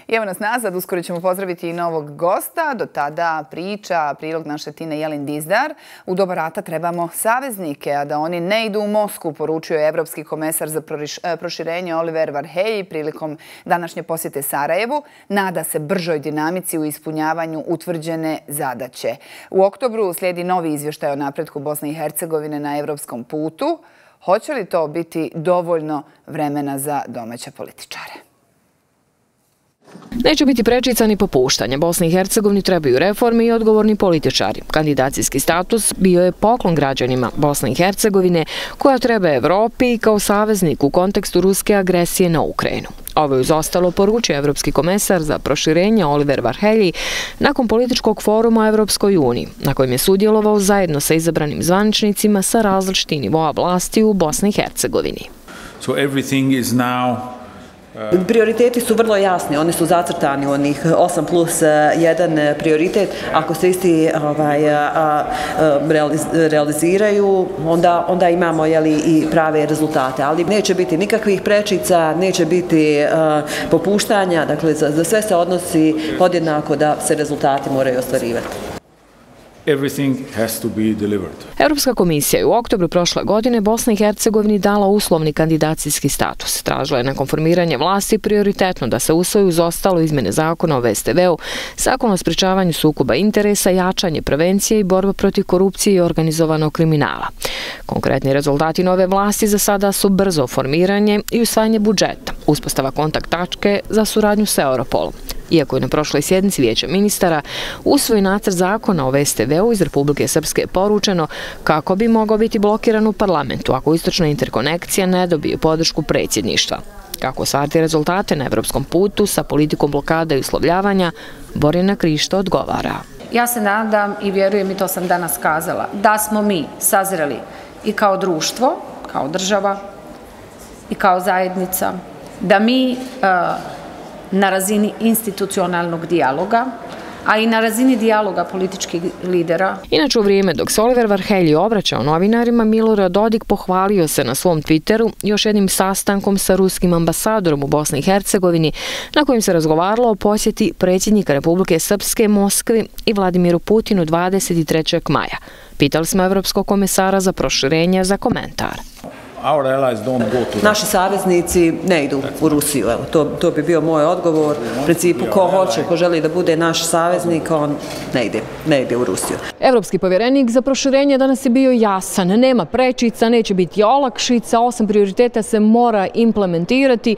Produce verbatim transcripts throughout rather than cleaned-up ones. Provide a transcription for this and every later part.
I evo nas nazad, uskoro ćemo pozdraviti i novog gosta. Do tada priča, prilog naše Tine Jelin Dizdar. U doba rata trebamo saveznike, a da oni ne idu u Moskvu, poručio je evropski komesar za proširenje Oliver Varhelyi prilikom današnje posjete Sarajevu. Nada se bržoj dinamici u ispunjavanju utvrđene zadaće. U oktobru slijedi novi izvještaj o napretku Bosne i Hercegovine na evropskom putu. Hoće li to biti dovoljno vremena za domaće političare? Neće biti prečica ni popuštanja. Bosni i Hercegovini trebaju reforme i odgovorni političari. Kandidacijski status bio je poklon građanima Bosne i Hercegovine koja treba Evropi i kao saveznik u kontekstu ruske agresije na Ukrajinu. Ovo je uz ostalo poručio evropski komesar za proširenje Oliver Varhelyi nakon političkog foruma o Evropskoj uniji, na kojem je sudjelovao zajedno sa izabranim zvaničnicima sa različitih nivoa vlasti u Bosni i Hercegovini. So everything is now Prioriteti su vrlo jasni, oni su zacrtani u onih osam plus jedan prioritet. Ako se isti ovaj, realiziraju, onda, onda imamo jeli, i prave rezultate. Ali neće biti nikakvih prečica, neće biti uh, popuštanja, dakle za, za sve se odnosi podjednako da se rezultati moraju ostvarivati. Everything has to be delivered. Europska komisija je u oktobru prošle godine Bosni i Hercegovini dala uslovni kandidacijski status. Tražila je nakon formiranja vlasti prioritetno da se usvoji uz ostalo izmjene zakona o V S T V-u, zakon o sprečavanju sukoba interesa, jačanje prevencije i borba protiv korupcije i organizovanog kriminala. Konkretni rezultati nove vlasti za sada su brzo formiranje i usvajanje budžeta, uspostava kontakt tačke za suradnju s Europolom. Iako je na prošloj sjednici Vijeća ministara usvojen nacrt zakona o V S T V-u iz Republike Srpske poručeno kako bi mogao biti blokiran u parlamentu ako istočna interkonekcija ne dobije podršku predsjedništva. Kako ostvariti rezultate na evropskom putu sa politikom blokada i uslovljavanja, Borjana Krišto odgovara. Ja se nadam i vjerujem, i to sam danas kazala, da smo mi sazreli i kao društvo, kao država i kao zajednica, da mi uh, na razini institucionalnog dijaloga, a i na razini dijaloga političkih lidera. Inače, u vrijeme dok se Oliver Varhelyi obraćao novinarima, Milorad Dodik pohvalio se na svom Twitteru još jednim sastankom sa ruskim ambasadorom u Bosni i Hercegovini, na kojem se razgovaralo o posjeti predsjednika Republike Srpske Moskvi i Vladimiru Putinu dvadeset trećeg maja. Pitali smo evropskog komesara za proširenje za komentar. Naši saveznici ne idu u Rusiju. Evo, to, to bi bio moj odgovor. U principu, ko hoće, ko želi da bude naš saveznik, on ne ide, ne ide u Rusiju. Evropski povjerenik za proširenje danas je bio jasan. Nema prečica, neće biti olakšica, osam prioriteta se mora implementirati,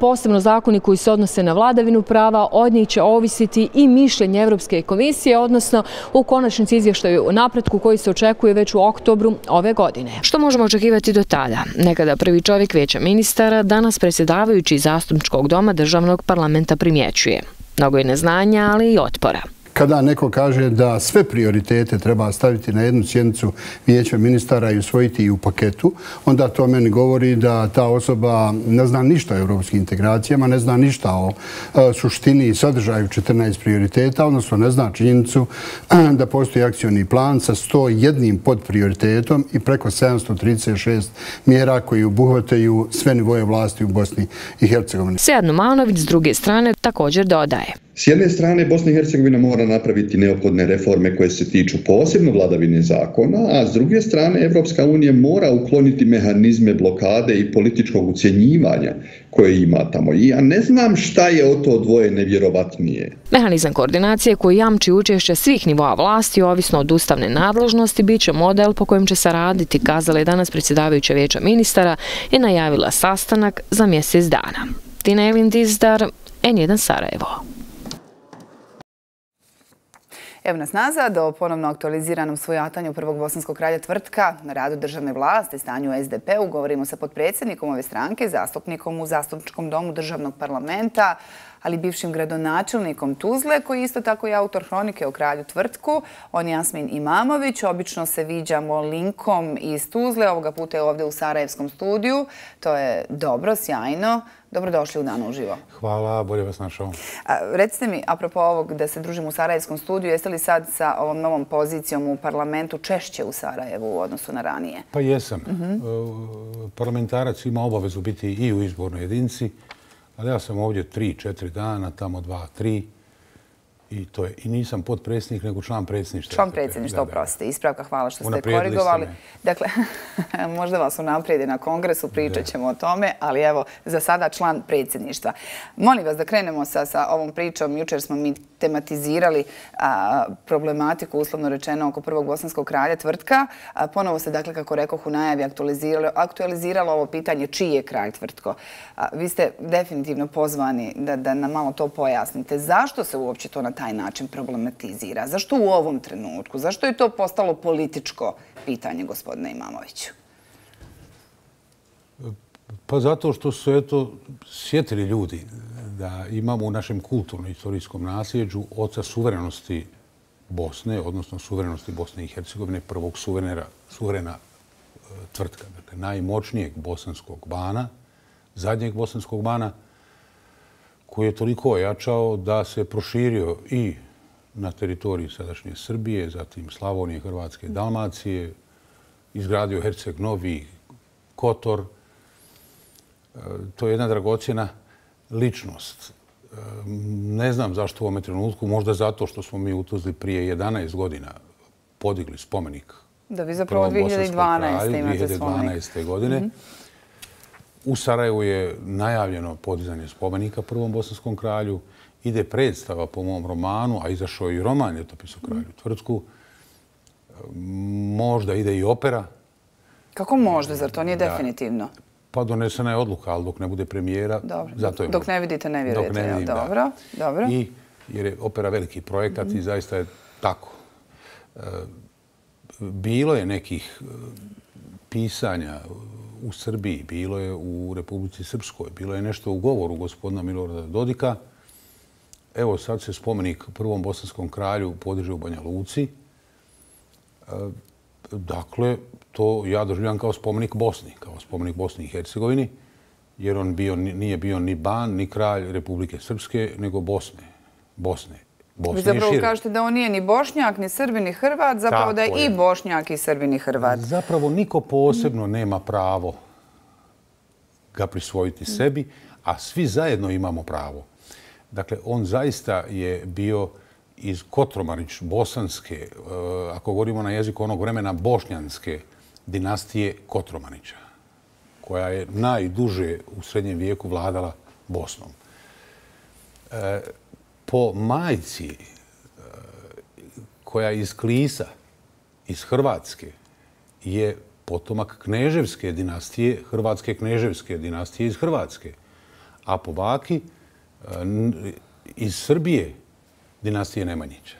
posebno zakoni koji se odnose na vladavinu prava, od njih će ovisiti i mišljenje Evropske komisije, odnosno u konačnici izvještaju o napretku koji se očekuje već u oktobru ove godine. Što možemo očekivati do tada? Nekada prvi čovjek Vijeća ministara, danas predsjedavajući Zastupničkog doma državnog parlamenta primjećuje. Mnogo je neznanja, ali i otpora. Kada neko kaže da sve prioritete treba staviti na jednu sjednicu Vijeća ministara i usvojiti i u paketu, onda to meni govori da ta osoba ne zna ništa o europskim integracijama, ne zna ništa o suštini i sadržaju četrnaest prioriteta, odnosno ne zna činjenicu da postoji akcioni plan sa sto jedan podprioritetom i preko sedamsto trideset šest mjera koji obuhvataju sve nivoje vlasti u Bosni i Hercegovini. Sead Numanović s druge strane također dodaje. S jedne strane, Bosna i Hercegovina mora napraviti neophodne reforme koje se tiču posebno vladavine zakona, a s druge strane, Evropska unija mora ukloniti mehanizme blokade i političkog ucjenjivanja koje ima tamo. I ja ne znam šta je o to dvoje nevjerovatnije. Mehanizam koordinacije koji jamči učešće svih nivoa vlasti, ovisno od ustavne nadležnosti, bit će model po kojem će se raditi, kazala je danas predsjedavajuća Vijeća ministara i najavila sastanak za mjesec dana. Tine Jelin Dizdar, N jedan Sarajevo. Evo nas nazad o ponovno aktualiziranom svojatanju prvog bosanskog kralja Tvrtka na radu državne vlasti, stanju u S D P-u. Govorimo sa potpredsjednikom ove stranke, zastupnikom u Zastupničkom domu državnog parlamenta, ali bivšim gradonačelnikom Tuzle, koji je isto tako i autor hronike o kralju Tvrtku. On je Jasmin Imamović. Obično se viđamo linkom iz Tuzle, ovoga puta je ovdje u Sarajevskom studiju. To je dobro, sjajno. Dobrodošli u Dan uživo. Hvala, bolje vas našao. Recite mi, apropo ovog da se družimo u Sarajevskom studiju, jeste li sad sa ovom novom pozicijom u parlamentu češće u Sarajevu u odnosu na ranije? Pa jesam. Parlamentarac ima obavezu biti i u izbornoj jedinici. Ali ja sam ovdje tri, četiri dana, tamo dva, tri. I, to je, I nisam potpredsjednik, nego član predsjedništva. Član predsjedništva, oprostite. Ispravka, hvala što ste korigovali. Dakle, možda vas unaprijedi na kongresu, pričat ćemo o tome, ali evo, za sada član predsjedništva. Molim vas da krenemo sa, sa ovom pričom. Jučer smo mi tematizirali a, problematiku, uslovno rečeno, oko prvog bosanskog kralja Tvrtka. A, ponovo se, dakle, kako rekoh, u najavi aktualiziralo, aktualiziralo ovo pitanje čiji je kralj Tvrtko. A, vi ste definitivno pozvani da, da nam malo to pojasnite. Zašto se uopće to na taj način problematizira? Zašto u ovom trenutku? Zašto je to postalo političko pitanje, gospodine Imamoviću? Pa zato što su eto sjetili ljudi da imamo u našem kulturno-istorijskom nasljeđu oca suverenosti Bosne, odnosno suverenosti Bosne i Hercegovine, prvog suverena, suverena Tvrtka, dakle najmoćnijeg bosanskog bana, zadnjeg bosanskog bana, koji je toliko ojačao da se proširio i na teritoriji sadašnje Srbije, zatim Slavonije, Hrvatske, Dalmacije, izgradio Herceg Novi, Kotor. To je jedna dragocjena ličnost. Ne znam zašto u ovome trenutku, možda zato što smo mi u Tuzli prije jedanaest godina podigli spomenik. Da, vi zapravo dvije hiljade dvanaeste imate spomenik. dvije hiljade dvanaeste. godine. Mm-hmm. U Sarajevu je najavljeno podizanje spomenika prvom bosanskom kralju. Ide predstava po mom romanu, a izašao je i roman Ljetopis o kralju Tvrtku. Možda ide i opera. Kako možda? Zar to nije da, definitivno? Pa donesena je odluka, ali dok ne bude premijera, dobro. Zato je dok možda. Ne vidite, ne vjerujete. Dok ne vidim, dobro, da. Dobro. I jer je opera veliki projekat mm-hmm. i zaista je tako. E, bilo je nekih pisanja u Srbiji, bilo je u Republici Srpskoj, bilo je nešto u govoru gospodina Milorada Dodika. Evo sad se spomenik prvom bosanskom kralju podiže u Banja Luci. Dakle, to ja doživljam kao spomenik Bosni, kao spomenik Bosni i Hercegovini, jer on bio, nije bio ni ban, ni kralj Republike Srpske, nego Bosne. Bosne. Bosne Vi zapravo kažete da on nije ni Bošnjak, ni Srbin, ni Hrvat, zapravo da je i Bošnjak, i Srbin, i Hrvat. Zapravo niko posebno nema pravo ga prisvojiti sebi, a svi zajedno imamo pravo. Dakle, on zaista je bio iz Kotromanić, bosanske, ako govorimo na jeziku onog vremena, bošnjanske dinastije Kotromanića, koja je najduže u srednjem vijeku vladala Bosnom. Po majci koja iz Klisa, iz Hrvatske, je potomak kneževske dinastije, hrvatske kneževske dinastije iz Hrvatske, a po baki iz Srbije dinastije Nemanjića.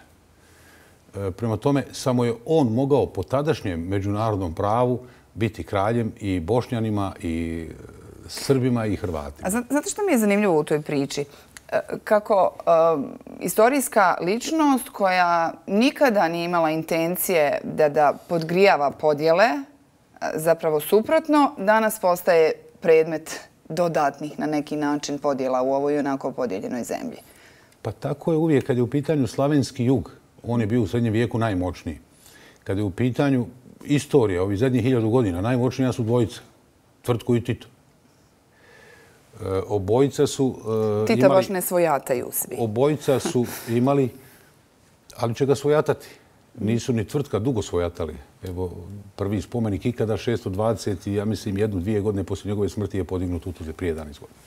Prema tome, samo je on mogao po tadašnjem međunarodnom pravu biti kraljem i Bošnjanima, i Srbima, i Hrvatima. A znate što mi je zanimljivo u toj priči? Kako uh, istorijska ličnost koja nikada nije imala intencije da, da podgrijava podjele, zapravo suprotno, danas postaje predmet dodatnih na neki način podjela u ovoj onako podijeljenoj zemlji. Pa tako je uvijek. Kad je u pitanju slavenski jug, on je bio u srednjem vijeku najmoćniji. Kad je u pitanju istorija, ovih zadnjih hiljadu godina, najmoćnija su dvojica, Tvrtko i Tito. E, obojica su e, Tita imali... baš ne svojataju svi. Obojica su imali, ali će ga svojatati. Nisu ni Tvrtka dugo svojatali. Evo, prvi spomenik ikada, šesto dvadeset i ja mislim jednu, dvije godine poslije njegove smrti je podignut u Tuzli prije jedanaest godina.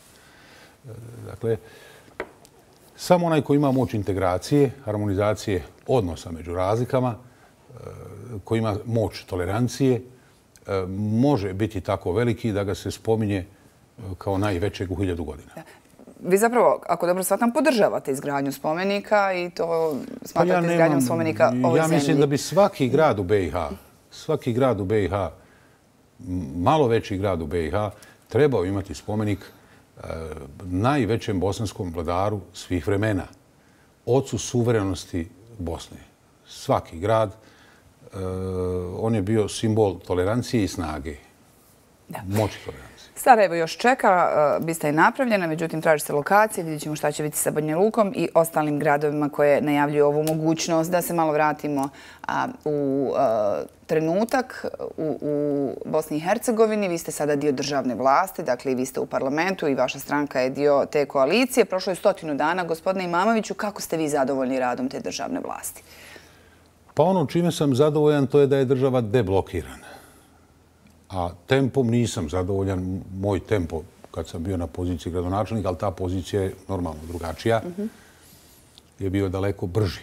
E, dakle, samo onaj koji ima moć integracije, harmonizacije odnosa među razlikama, koji ima moć tolerancije, može biti tako veliki da ga se spominje kao najvećeg u hiljadu godina. Vi zapravo, ako dobro shvatam, podržavate izgradnju spomenika i to smatrate pa ja izgradnjom spomenika ovoj zemlji. Ja mislim da bi svaki grad u be i ha, svaki grad u be i ha, malo veći grad u be i ha, trebao imati spomenik najvećem bosanskom vladaru svih vremena, ocu suverenosti Bosne. Svaki grad, on je bio simbol tolerancije i snage. moći tolerancije. Sarajevo još čeka, bista je napravljena, međutim traži se lokacije, vidjet ćemo šta će biti sa Banja Lukom i ostalim gradovima koje najavljuju ovu mogućnost. Da se malo vratimo u trenutak u Bosni i Hercegovini. Vi ste sada dio državne vlasti, dakle i vi ste u parlamentu i vaša stranka je dio te koalicije. Prošlo je stotinu dana. Gospodine Imamoviću, kako ste vi zadovoljni radom te državne vlasti? Pa ono čime sam zadovoljan to je da je država deblokirana. A tempom nisam zadovoljan. Moj tempo kad sam bio na poziciji gradonačelnika, ali ta pozicija je normalno drugačija, je bio daleko brži.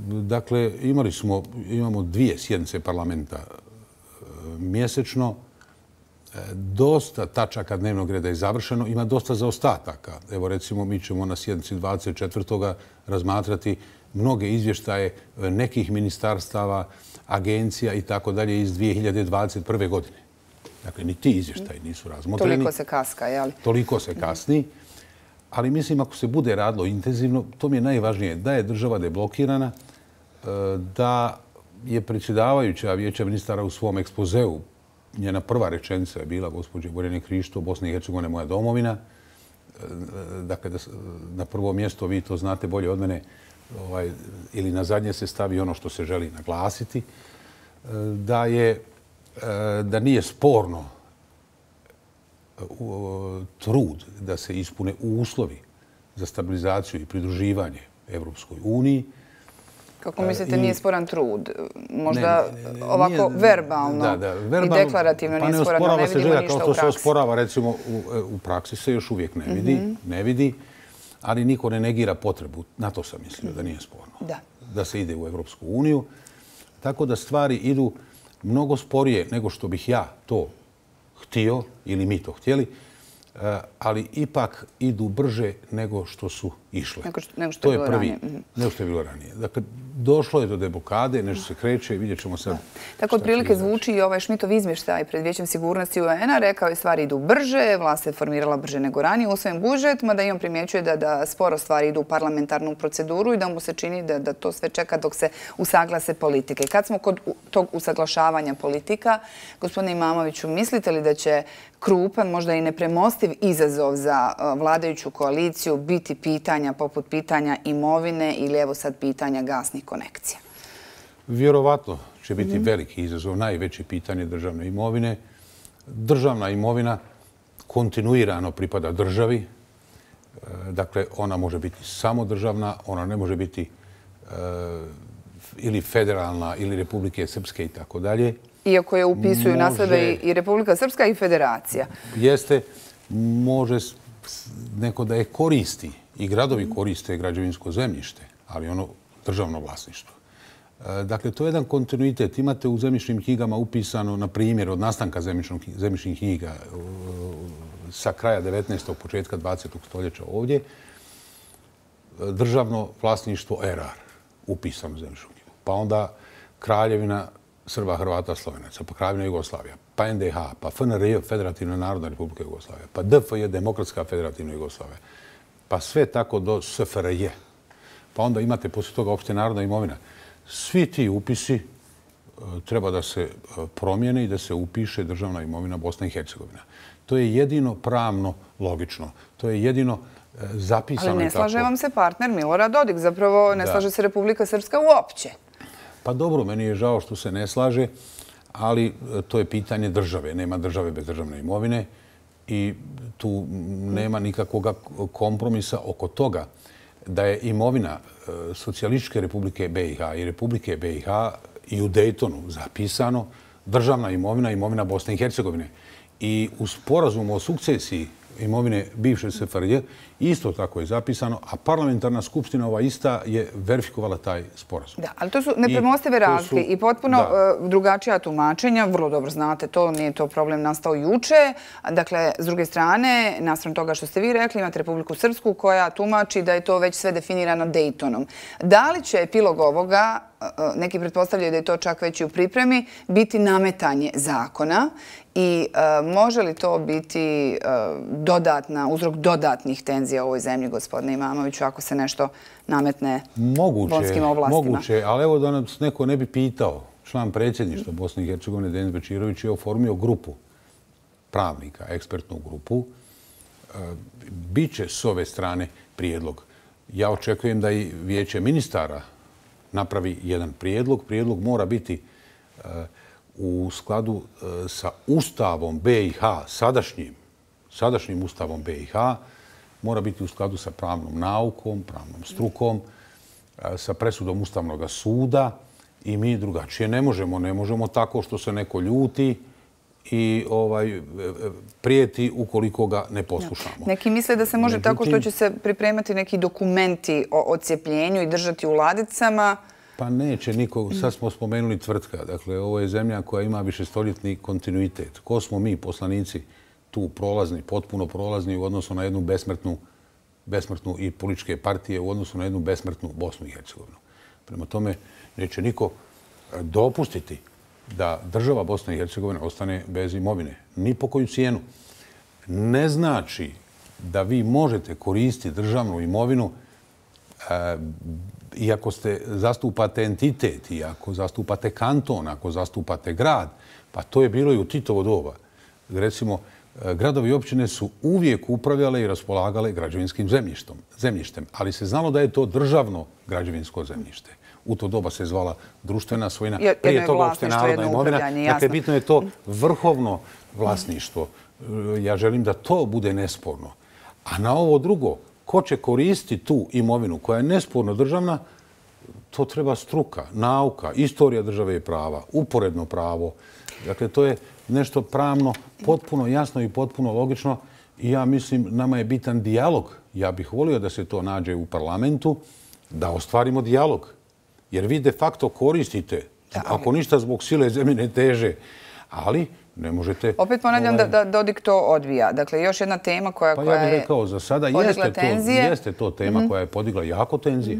Dakle, imali smo, imamo dvije sjednice parlamenta mjesečno. Dosta tačaka dnevnog reda je završeno. Ima dosta zaostataka. Evo recimo mi ćemo na sjednici dvadeset četvrtog razmatrati mnoge izvještaje nekih ministarstava, agencija i tako dalje iz dvije hiljade dvadeset prve. godine. Dakle, ni ti izvještaji nisu razmotreni. Toliko se kaska, jel? Toliko se kasni. Ali mislim, ako se bude radilo intenzivno, to mi je najvažnije, da je država deblokirana, da je predsjedavajuća Vijeća ministara u svom ekspozeu, njena prva rečenica je bila, gospođe Borjane Krišto, Bosna i Hercegovina je moja domovina. Dakle, na prvo mjesto, vi to znate bolje od mene, ovaj, ili na zadnje se stavi ono što se želi naglasiti, da, je, da nije sporno trud da se ispune uslovi za stabilizaciju i pridruživanje Evropskoj uniji. Kako mislite, nije sporan trud? Možda ovako verbalno i deklarativno nije sporan, no ne vidimo ništa u praksi. Kao što se osporava, recimo, u praksi se još uvijek ne vidi, ne vidi, ali niko ne negira potrebu. Na to sam mislio da nije sporno. Da se ide u Evropsku uniju. Tako da stvari idu mnogo sporije nego što bih ja to htio ili mi to htjeli, ali ipak idu brže nego što su išle. Nego što je bilo ranije. Nego što je bilo ranije. Dakle, došlo je do deblokade, nešto se kreće i vidjet ćemo sad. Tako otprilike zvuči i ovaj Šmitov izvještaj pred Vijećem sigurnosti U N-a. Rekao je stvari idu brže, vlast se formirala brže nego ranije, usvojen budžet, mada i on primjećuje da sporo stvari idu u parlamentarnu proceduru i da mu se čini da to sve čeka dok se usaglase politike. Kad smo kod tog usaglašavanja politika, gospodine Imamoviću, mislite li da će krupan, možda i nepremostiv izazov za vladajuću koaliciju biti pitanja poput pitanja imovine ili evo sad pitanja gasnih konekcija? Vjerovatno će biti veliki izazov, najveće pitanje državne imovine. Državna imovina kontinuirano pripada državi. Dakle, ona može biti samo državna, ona ne može biti ili federalna ili Republike Srpske i tako dalje. Iako je upisuju na sebe i Republika Srpska i Federacija. Jeste, može neko da je koristi i gradovi koriste građevinsko zemljište, ali ono državno vlasništvo. Dakle, to je jedan kontinuitet. Imate u zemljišnim knjigama upisano, na primjer, od nastanka zemljišnih knjiga sa kraja devetnaestog. početka dvadesetog. stoljeća ovdje, državno vlasništvo R R upisano u zemljišnu knjigu. Pa onda Kraljevina Srba, Hrvata, Slovenaca, pa Kraljevina Jugoslavija, pa N D H, pa F N R J, Federativna narodna republika Jugoslavija, pa D F J, Demokratska federativna Jugoslavija, pa sve tako do S F R J. Pa onda imate poslije toga opšte narodna imovina. Svi ti upisi treba da se promijene i da se upiše državna imovina Bosna i Hercegovina. To je jedino pravno logično. To je jedino zapisano. Ali ne slaže vam se partner Milorad Dodik. Zapravo ne slaže se Republika Srpska uopće. Pa dobro, meni je žao što se ne slaže, ali to je pitanje države. Nema države bez državne imovine i tu nema nikakvog kompromisa oko toga da je imovina Socijalističke republike B i H i Republike B i H i u Dejtonu zapisano državna imovina, imovina Bosne i Hercegovine. I u sporazumu o sukcesiji imovine bivše S F R J isto tako je zapisano, a parlamentarna skupština ova ista je verifikovala taj sporazum. Da, ali to su nepremostive razlike i potpuno drugačija tumačenja. Vrlo dobro znate to, nije to problem nastao juče. Dakle, s druge strane, naspram toga što ste vi rekli, imate Republiku Srpsku koja tumači da je to već sve definirano Dejtonom. Da li će epilog ovoga, neki pretpostavljaju da je to čak već i u pripremi, biti nametanje zakona i može li to biti dodatna, uzrok dodatnih tenzija u ovoj zemlji, gospodine Imamoviću, ako se nešto nametne bonskim ovlastima? Moguće, ali evo da nas neko ne bi pitao. Član predsjedništva Bosne i Hercegovine, Denis Bečirović, je oformio grupu pravnika, ekspertnu grupu, bit će s ove strane prijedlog. Ja očekujem da i Vijeće ministara napravi jedan prijedlog. Prijedlog mora biti u skladu sa Ustavom be i ha, sadašnjim, sadašnjim Ustavom be i ha, mora biti u skladu sa pravnom naukom, pravnom strukom, sa presudom Ustavnog suda i mi drugačije ne možemo. Ne možemo tako što se neko ljuti i ovaj, prijeti ukoliko ga ne poslušamo. Neki misle da se može Međutim, tako što će se pripremati neki dokumenti o odcijepljenju i držati u ladicama. Pa neće niko. Sad smo spomenuli tvrtka. Dakle, ovo je zemlja koja ima višestoljetni kontinuitet. Ko smo mi, poslanici, tu prolazni, potpuno prolazni u odnosu na jednu besmrtnu, besmrtnu i političke partije u odnosu na jednu besmrtnu Bosnu i Hercegovinu. Prema tome, neće niko dopustiti da država Bosna i Hercegovina ostane bez imovine. Ni po koju cijenu. Ne znači da vi možete koristiti državnu imovinu iako ste zastupate entitet, iako zastupate kanton, ako zastupate grad. Pa to je bilo i u Titovo doba. Recimo, gradovi i općine su uvijek upravljale i raspolagale građevinskim zemljištem, ali se znalo da je to državno građevinsko zemljište. U to doba se zvala društvena svojina, prije toga opšte narodna imovina. Dakle, bitno je to vrhovno vlasništvo. Ja želim da to bude nesporno. A na ovo drugo, ko će koristiti tu imovinu koja je nesporno državna, to treba struka, nauka, istorija države i prava, uporedno pravo. Dakle, to je nešto pravno potpuno jasno i potpuno logično i ja mislim nama je bitan dijalog. Ja bih volio da se to nađe u parlamentu, da ostvarimo dijalog. Jer vi de facto koristite, ako ništa zbog sile zemljine teže, ali ne možete... Opet ponavljam da Dodik to odbija. Dakle, još jedna tema koja je podigla tenzije. Pa ja bih rekao, za sada jeste to tema koja je podigla jako tenzije.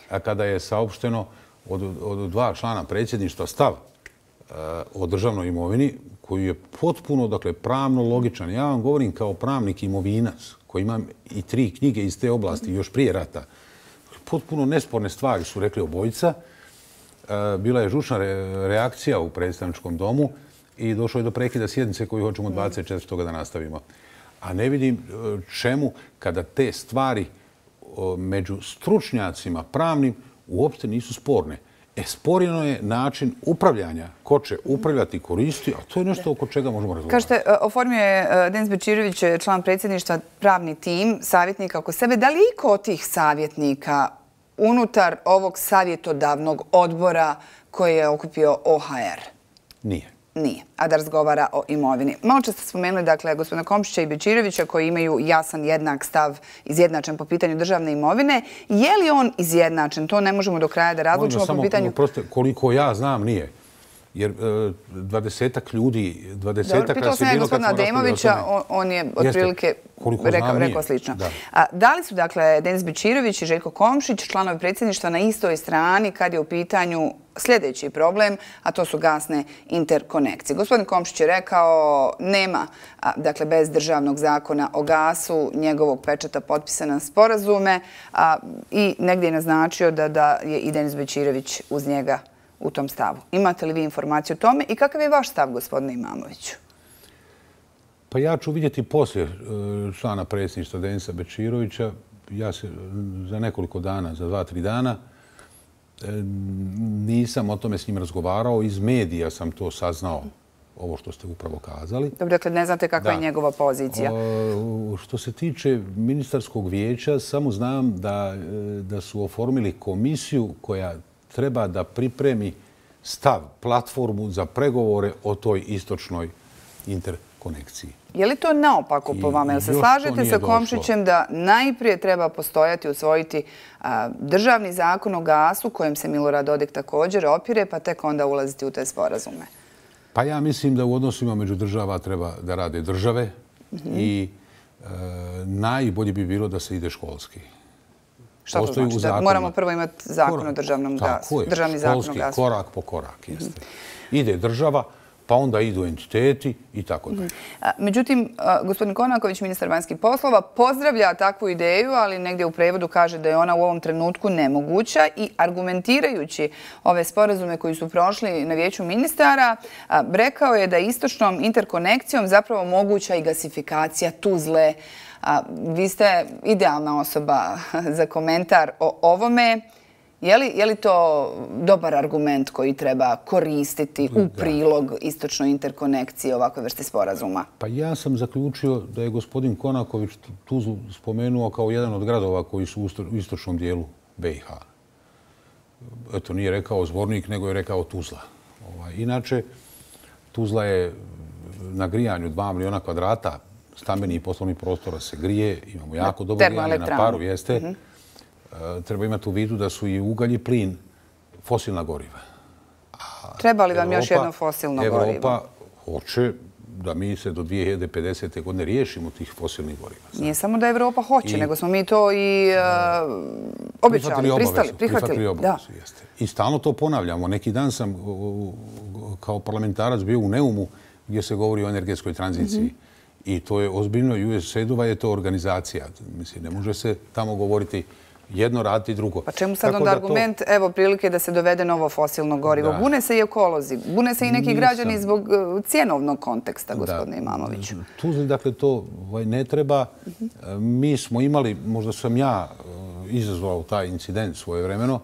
A kada je saopšteno od dva člana predsjedništva stav o državnoj imovini, koji je potpuno, dakle, pravno logičan. Ja vam govorim kao pravnik imovinac, koji imam i tri knjige iz te oblasti, još prije rata. Potpuno nesporne stvari su rekli obojica. Bila je žučna reakcija u predstavničkom domu i došlo je do prekida sjednice koju hoćemo dvadeset četvrtog da nastavimo. A ne vidim čemu kada te stvari među stručnjacima pravnim uopšte nisu sporne. E, sporino je način upravljanja. Ko će upravljati i koristiti, a to je nešto oko čega možemo razgovarati. Kažete, oformio je Denis Bečirović, član predsjedništva, pravni tim, savjetnika oko sebe. Da li iko od tih savjetnika unutar ovog savjetodavnog odbora koji je okupio o ha er? Nije. Nije, a da razgovara o imovini. Malo čas ste spomenuli, dakle, gospodina Komšića i Bečirovića koji imaju jasan, jednak stav, izjednačen po pitanju državne imovine. Je li on izjednačen? To ne možemo do kraja da razlučimo po pitanju... Koliko ja znam, nije. Jer dvadesetak ljudi, dvadesetak... Pitao sam ja gospodina Ademovića, on je otprilike rekao slično. Da li su, dakle, Denis Bečirović i Željko Komšić, članovi predsjedništva, na istoj strani kad je u pitanju sljedeći problem, a to su gasne interkonekcije? Gospodin Komšić je rekao nema, dakle, bez državnog zakona o gasu, njegovog pečata potpisana sporazume i negdje je naznačio da je i Denis Bečirović uz njega u tom stavu. Imate li vi informaciju o tome i kakav je vaš stav, gospodine Imamoviću? Pa ja ću vidjeti poslije člana predsjedništva Denisa Bečirovića. Ja se za nekoliko dana, za dva, tri dana, nisam o tome s njim razgovarao. Iz medija sam to saznao, ovo što ste upravo kazali. Dobro, dakle, ne znate kakva je njegova pozicija. Što se tiče ministarskog vijeća, samo znam da su oformili komisiju koja treba da pripremi stav, platformu za pregovore o toj istočnoj interkonekciji. Je li to naopako po vama? Jel se slažete sa Komšićem da najprije treba postojati, usvojiti državni zakon o gasu, kojem se Milorad Dodik također opire, pa tek onda ulaziti u te sporazume? Pa ja mislim da u odnosima među država treba da rade države i najbolje bi bilo da se ide školski. Šta to znači? Da moramo prvo imati zakon o državnom gasu. Tako je, školski, korak po korak. Ide država, pa onda idu entiteti i tako dalje. Međutim, gospodin Konaković, ministar vanjskih poslova, pozdravlja takvu ideju, ali negdje u prevodu kaže da je ona u ovom trenutku nemoguća i argumentirajući ove sporazume koji su prošli na vijeću ministara, rekao je da istočnom interkonekcijom zapravo moguća i gasifikacija Tuzle. Vi ste idealna osoba za komentar o ovome. Je li, je li to dobar argument koji treba koristiti u prilog istočnoj interkonekciji ovakve vrste sporazuma? Pa ja sam zaključio da je gospodin Konaković Tuzlu spomenuo kao jedan od gradova koji su u istočnom dijelu B i H. Eto, nije rekao Zvornik, nego je rekao Tuzla. Inače, Tuzla je na grijanju dva miliona kvadrata stambenih i poslovnih prostora se grije. Imamo jako dobro grijanje na paru, jeste. Treba imati u vidu da su i ugalj i plin fosilna goriva. Treba li vam još jedno fosilno gorivo? Evropa hoće da mi se do dvije hiljade pedesete. godine riješimo tih fosilnih goriva. Nije samo da Evropa hoće, nego smo mi to i obećali, pristali, prihvatili. I stalno to ponavljamo. Neki dan sam kao parlamentarac bio u Neumu gdje se govori o energetskoj tranziciji. I to je ozbiljno. U S A I D-ova je to organizacija. Mislim, ne može se tamo govoriti jedno raditi drugo. Pa čemu sad onda argument, evo prilike da se dovede novo fosilno gorivo? Bune se i ekolozi, bune se i neki građani zbog cjenovnog konteksta, gospodine Imamoviću. Tuzli, dakle, to ne treba. Mi smo imali, možda sam ja izazvao taj incident svojevremeno,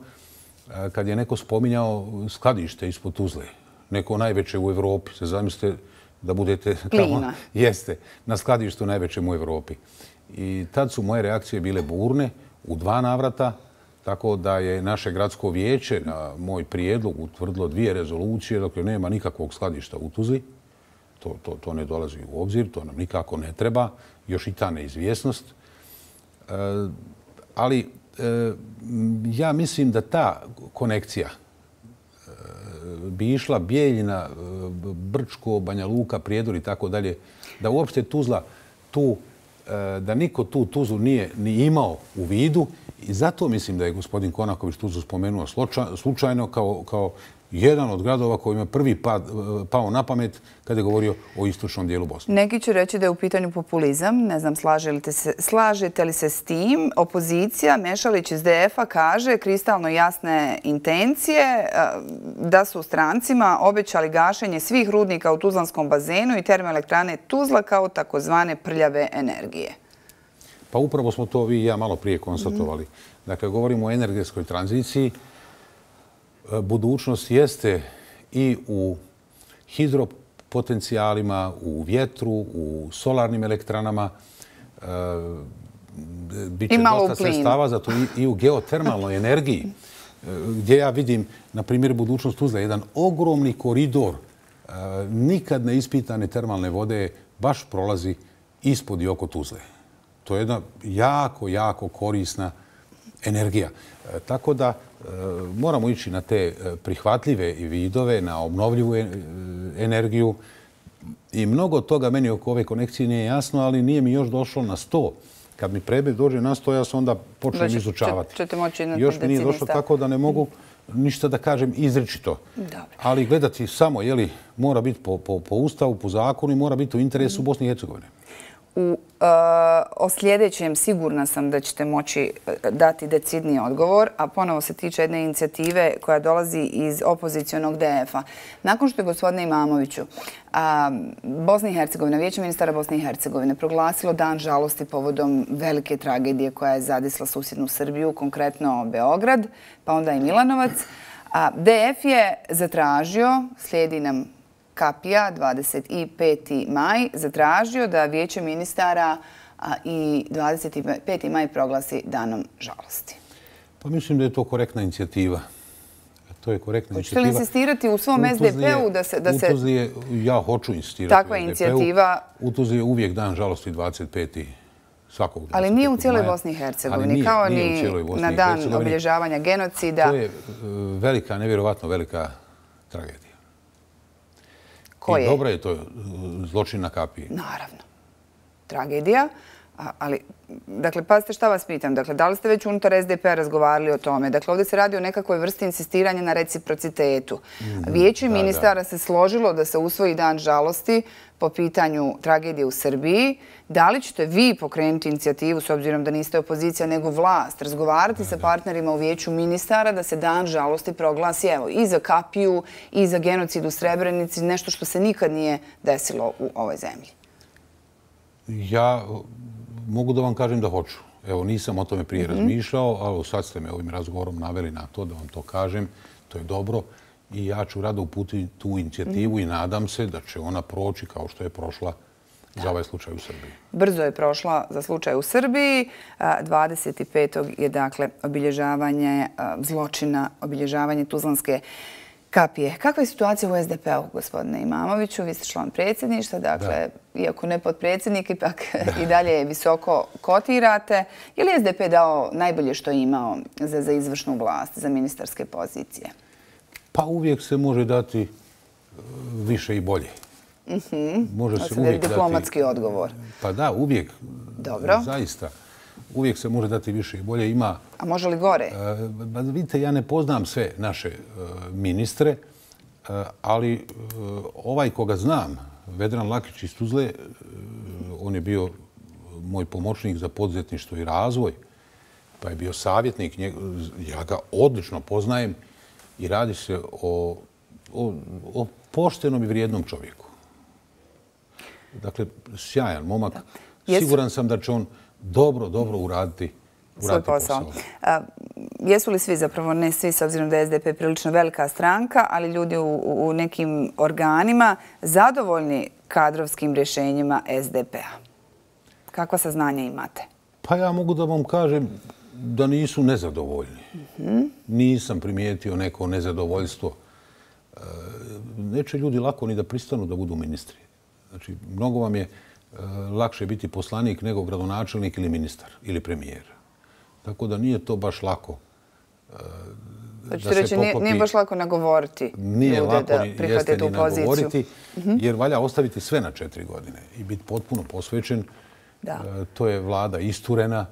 kad je neko spominjao skladište ispod Tuzle. Neko najveće u Evropi. Se zamislite da budete tamo. Jeste, na skladištu najvećem u Evropi. I tad su moje reakcije bile burne u dva navrata, tako da je naše gradsko vijeće na moj prijedlog utvrdilo dvije rezolucije, dakle nema nikakvog skladišta u Tuzli. To, to, to ne dolazi u obzir, to nam nikako ne treba, još i ta neizvjesnost. E, ali e, ja mislim da ta konekcija e, bi išla Bijeljina, Brčko, Banja Luka, Prijedor i tako dalje, da uopšte Tuzla tu da niko tu Tuzlu nije ni imao u vidu i zato mislim da je gospodin Konaković Tuzlu spomenuo slučajno kao, kao jedan od gradova koji ima prvi pad, pao na pamet kada je govorio o istočnom dijelu Bosne. Neki će reći da je u pitanju populizam. Ne znam, slažete, se, slažete li se s tim? Opozicija, Mešalić iz D F-a, kaže kristalno jasne intencije da su strancima obećali gašenje svih rudnika u Tuzlanskom bazenu i termoelektrane Tuzla kao takozvane prljave energije. Pa upravo smo to vi i ja malo prije konstatovali. Dakle, govorimo o energetskoj tranziciji. Budućnost jeste i u hidropotencijalima, u vjetru, u solarnim elektranama. Biće dosta sredstava za to i u geotermalnoj energiji, gdje ja vidim, na primjer, budućnost Tuzle, jedan ogromni koridor nikad neispitane termalne vode baš prolazi ispod i oko Tuzle. To je jedna jako, jako korisna energija. Tako da moramo ići na te prihvatljive vidove, na obnovljivu energiju. I mnogo toga meni oko ove konekcije nije jasno, ali nije mi još došlo na sto. Kad mi predmet dođe na sto, ja se onda počnem izučavati. Još mi nije došlo tako da ne mogu ništa da kažem izričito. Ali gledati samo, jeli, mora biti po, po, po ustavu, po zakonu i mora biti u interesu Bosne i Hercegovine. U, uh, o sljedećem sigurna sam da ćete moći dati decidniji odgovor, a ponovo se tiče jedne inicijative koja dolazi iz opozicionog D F-a. Nakon što je, gospodine Imamoviću, a, Bosna i Hercegovina, Vijeće ministara Bosne i Hercegovine proglasilo dan žalosti povodom velike tragedije koja je zadesila susjednu Srbiju, konkretno Beograd, pa onda i Milanovac, a D F je zatražio, slijedi nam Kapija, dvadeset peti maj, zatražio da Vijeće ministara i dvadeset peti maj proglasi danom žalosti. Pa mislim da je to korektna inicijativa. To je korektna inicijativa. Hoćete li insistirati u svom S D P-u da se... U Tuzli je, ja hoću insistirati takva inicijativa... U Tuzli je uvijek dan žalosti dvadeset peti svakog dana. Ali nije u cijeloj Bosni i Hercegovini, kao ni na dan obilježavanja genocida. To je velika, nevjerovatno velika tragedija. I dobra je to zločin na Kapiji. Naravno. Tragedija. Ali, dakle, pazite šta vas pitam. Dakle, da li ste već unutar S D P-a razgovarali o tome? Dakle, ovdje se radi o nekakvoj vrsti insistiranja na reciprocitetu. Vijeće ministara se složilo da se usvoji dan žalosti po pitanju tragedije u Srbiji. Da li ćete vi pokrenuti inicijativu, s obzirom da niste opozicija nego vlast, razgovarati sa partnerima u vijeću ministara da se dan žalosti proglasi, evo, i za kapiju, i za genocid u Srebrenici, nešto što se nikad nije desilo u ovoj zemlji? Ja mogu da vam kažem da hoću. Evo, nisam o tome prije razmišljao, ali sad ste me ovim razgovorom naveli na to da vam to kažem. To je dobro i ja ću rado uputiti tu inicijativu i nadam se da će ona proći kao što je prošla za ovaj slučaj u Srbiji. Brzo je prošla za slučaj u Srbiji. dvadeset petog je, dakle, obilježavanje zločina, obilježavanje Tuzlanske kapije. Kakva je situacija u S D P-u, gospodine Imamoviću? Vi ste član predsjedništva, dakle, iako ne potpredsjednik, ipak i dalje visoko kotirate. Je li S D P dao najbolje što je imao za izvršnu vlast, za ministarske pozicije? Pa uvijek se može dati više i bolje. Može se uvijek dati... Diplomatski odgovor. Pa da, uvijek. Dobro. Zaista. Uvijek se može dati više i bolje. Ima... A može li gore? Vidite, ja ne poznam sve naše ministre, ali ovaj koga znam, Vedran Lakić iz Tuzle, on je bio moj pomoćnik za poduzetništvo i razvoj, pa je bio savjetnik. Ja ga odlično poznajem i radi se o, o, o poštenom i vrijednom čovjeku. Dakle, sjajan momak. Siguran sam da će on dobro, dobro uraditi svoj posao. Jesu li svi, zapravo ne svi, s obzirom da je S D P prilično velika stranka, ali ljudi u nekim organima zadovoljni kadrovskim rješenjima S D P-a? Kakva saznanja imate? Pa ja mogu da vam kažem da nisu nezadovoljni. Nisam primijetio neko nezadovoljstvo. Neće ljudi lako ni da pristanu da budu ministri. Znači, mnogo vam je lakše biti poslanik nego gradonačelnik ili ministar ili premijer. Tako da nije to baš lako da se reći, poklopi... Nije baš lako nagovoriti ljude da prihvate tu poziciju. Jer valja ostaviti sve na četiri godine i biti potpuno posvećen. To je vlada isturena.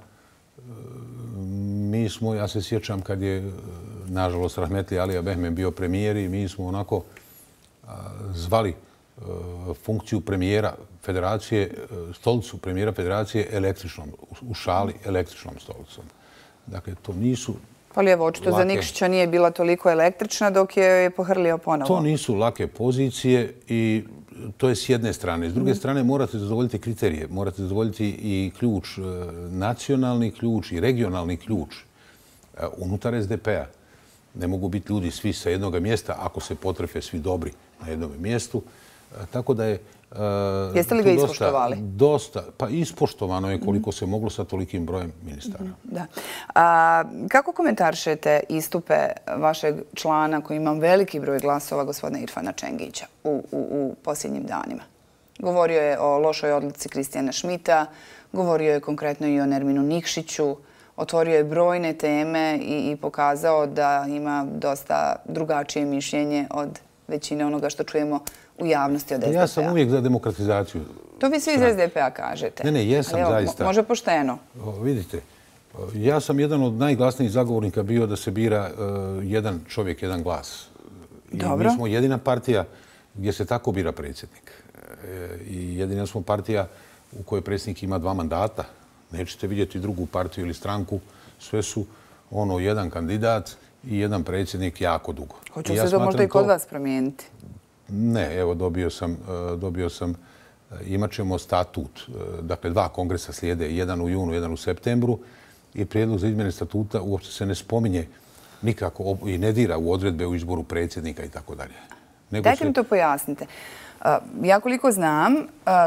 Mi smo, ja se sjećam kad je, nažalost, Rahmetli Alija Behmem bio premijer i mi smo onako zvali funkciju premijera federacije, stolicu premijera federacije električnom, u šali električnom stolicom. Dakle, to nisu Ali evo, očito za Nikšića nije bila toliko električna dok je pohrlio ponovo. To nisu lake pozicije i to je s jedne strane. S druge strane, morate zadovoljiti kriterije. Morate zadovoljiti i ključ, nacionalni ključ i regionalni ključ unutar S D P-a. Ne mogu biti ljudi svi sa jednog mjesta ako se potrefe svi dobri na jednom mjestu. Tako da je... Jeste li ga ispoštovali? Dosta. Pa ispoštovano je koliko se moglo sa tolikim brojem ministara. Da. Kako komentaršete istupe vašeg člana koji ima veliki broj glasova, gospodina Irfana Čengića, u posljednjim danima? Govorio je o lošoj odluci Kristijana Šmita, govorio je konkretno i o Nerminu Nikšiću, otvorio je brojne teme i pokazao da ima dosta drugačije mišljenje od većine onoga što čujemo u javnosti od S D P-a. Ja sam uvijek za demokratizaciju. To vi svi iz S D P-a kažete. Ne, ne, jesam zaista. Može pošteno. Vidite, ja sam jedan od najglasnijih zagovornika bio da se bira jedan čovjek, jedan glas. Dobro. Mi smo jedina partija gdje se tako bira predsjednik. I jedina smo partija u kojoj predsjednik ima dva mandata. Nećete vidjeti drugu partiju ili stranku. Sve su ono jedan kandidat i jedan predsjednik jako dugo. Hoće se to možda i kod vas promijeniti? Ne, evo dobio sam, dobio sam, imat ćemo statut, dakle dva kongresa slijede, jedan u junu, jedan u septembru i prijedlog za izmjene statuta uopće se ne spominje nikako i ne dira u odredbe u izboru predsjednika i tako dalje. Dajte mi to pojasnite. Ja koliko znam,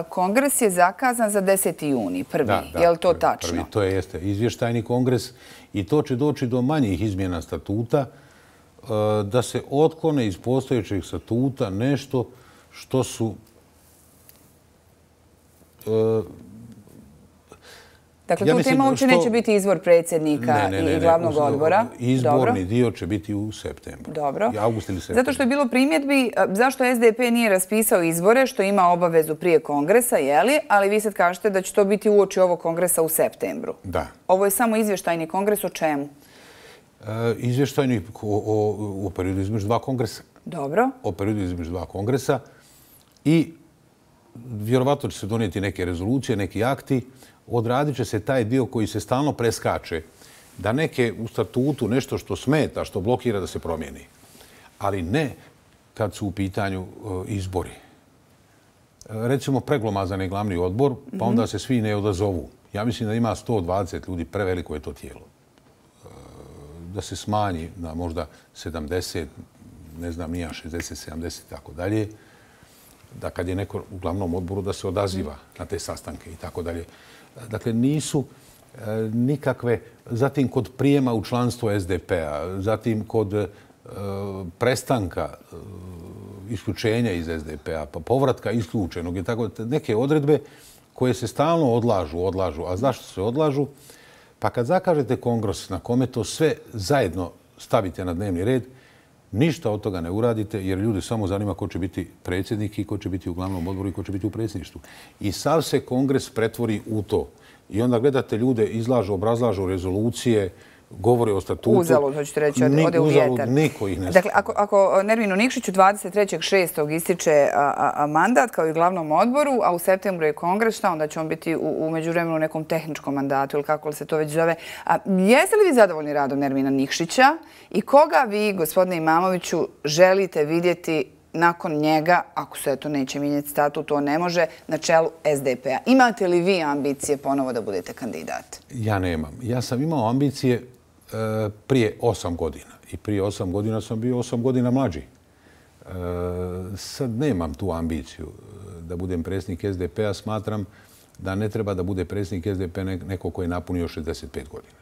kongres je zakazan za deseti juni, prvi. Je li to tačno? To je jeste izvještajni kongres i to će doći do manjih izmjena statuta da se otklone iz postojećeg statuta nešto što su Dakle, tu tema uopće neće biti izbor predsjednika i glavnog odbora. Izborni dio će biti u septembru. Dobro. Avgust ili septembru. Zato što je bilo primjedbi zašto S D P nije raspisao izbore, što ima obavezu prije kongresa, jeli? Ali vi sad kažete da će to biti uoči ovog kongresa u septembru. Da. Ovo je samo izvještajni kongres o čemu? Izvještajni o periodu između dva kongresa. Dobro. O periodu između dva kongresa i vjerovatno će se donijeti neke rezolucije, neki akti. Odradit će se taj dio koji se stalno preskače, da neke u statutu nešto što smeta, što blokira da se promijeni. Ali ne kad su u pitanju izbori. Recimo preglomazan je glavni odbor, pa onda se svi ne odazovu. Ja mislim da ima sto dvadeset ljudi, preveliko je to tijelo. Da se smanji na možda sedamdeset, ne znam, nija šezdeset, sedamdeset i tako dalje. Da kad je neko u glavnom odboru da se odaziva na te sastanke i tako dalje. Dakle, nisu nikakve, zatim kod prijema u članstvo S D P-a, zatim kod prestanka isključenja iz S D P-a, pa povratka isključenog i tako neke odredbe koje se stalno odlažu, odlažu. A zašto se odlažu? Pa kad zakažete kongres na kome to sve zajedno stavite na dnevni red, ništa od toga ne uradite jer ljudi samo zanima ko će biti predsjednik i ko će biti u glavnom odboru i ko će biti u predsjedništvu. I sav se kongres pretvori u to. I onda gledate ljude, izlažu, obrazlažu rezolucije, govore o statutu. Uzalud, hoćete reći, ode u vjetar. Uzalud, niko ih ne Dakle, ako, ako Nerminu Nikšiću dvadeset trećeg šestog ističe a, a, a mandat kao i glavnom odboru, a u septembru je kongres, šta onda će on biti u, u međuvremenu u nekom tehničkom mandatu ili kako li se to već zove. A, jeste li vi zadovoljni radom Nermina Nikšića i koga vi, gospodine Imamoviću, želite vidjeti nakon njega, ako se to neće mijenjati statut, to ne može, na čelu S D P-a? Imate li vi ambicije ponovo da budete kandidat? Ja nemam. Ja sam imao ambicije e, prije osam godina. I prije osam godina sam bio osam godina mlađi. E, sad nemam tu ambiciju da budem predsjednik S D P-a. Smatram da ne treba da bude predsjednik S D P-a neko koji je napunio šezdeset pet godina.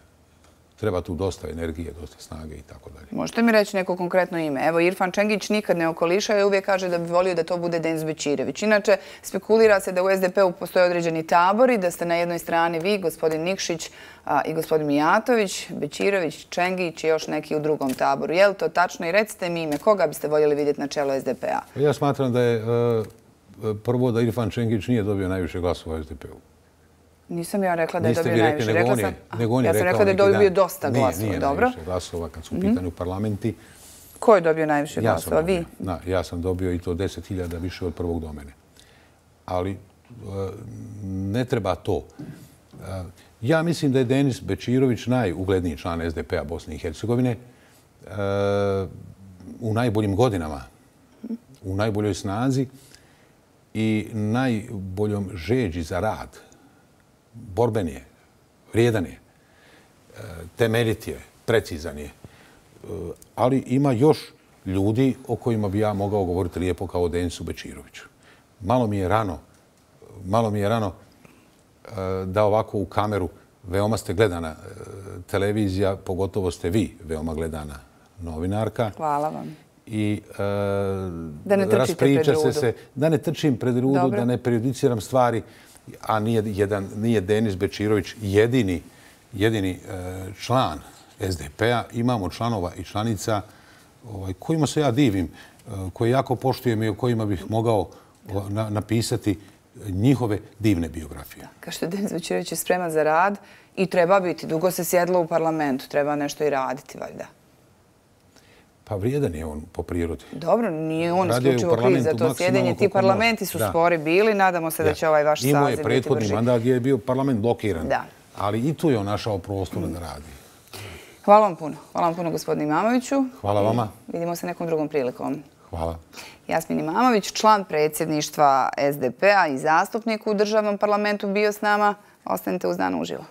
Treba tu dosta energije, dosta snage i tako dalje. Možete mi reći neko konkretno ime? Evo, Irfan Čengić nikad ne okoliša i uvijek kaže da bi volio da to bude Denis Bećirević. Inače, spekulira se da u S D P-u postoje određeni tabori, da ste na jednoj strani vi, gospodin Nikšić a, i gospodin Mijatović, Bećirević, Čengić i još neki u drugom taboru. Je li to tačno? I recite mi ime, koga biste voljeli vidjeti na čelu S D P-a? Ja smatram da je uh, prvo da Irfan Čengić nije dobio najviše glasova u S D P-u. Nisam ja rekla da je dobio najviše. Nego on je, nego on je ja sam rekla da je dobio dosta glasova. Nije, nije dobro. najviše glasova kad su u pitanju parlamenti. Ko je dobio najviše ja glasova? Vi? Da, ja sam dobio i to deset hiljada više od prvog do mene. Ali ne treba to. Ja mislim da je Denis Bećirović najugledniji član S D P-a Bosne i Hercegovine u najboljim godinama, u najboljoj snazi i najboljom žeđi za rad. Borben je, vrijedan je, temeljit je, precizan je. Ali ima još ljudi o kojima bi ja mogao govoriti lijepo kao o Denisu Bećiroviću. Malo mi je rano, malo mi je rano da ovako u kameru, veoma ste gledana televizija, pogotovo ste vi veoma gledana novinarka. Hvala vam. I uh, da ne trčite pred rudu. Se, da ne trčim pred rudu, Dobro. Da ne prejudiciram stvari, a nije, jedan, nije Denis Bećirović jedini, jedini uh, član S D P-a. Imamo članova i članica ovaj, kojima se ja divim, uh, koji jako poštujem i o kojima bih mogao uh, na, napisati njihove divne biografije. Kao što Denis Bećirović je spreman za rad i treba biti. Dugo se sjedlo u parlamentu, treba nešto i raditi, valjda. Pa vrijedan je on po prirodi. Dobro, nije on isključivo kriv za to sjedenje. Ti parlamenti su spori bili. Nadamo se da će ovaj vaš saziv biti brži. Imao je prethodni mandat gdje je bio parlament blokiran. Da. Ali i tu je on našao prostora da radi. Hvala vam puno. Hvala vam puno, gospodine Imamoviću. Hvala vama. Vidimo se nekom drugom prilikom. Hvala. Jasmin Imamović, član predsjedništva S D P-a i zastupnik u državnom parlamentu bio s nama. Ostanite uz Dan uživo.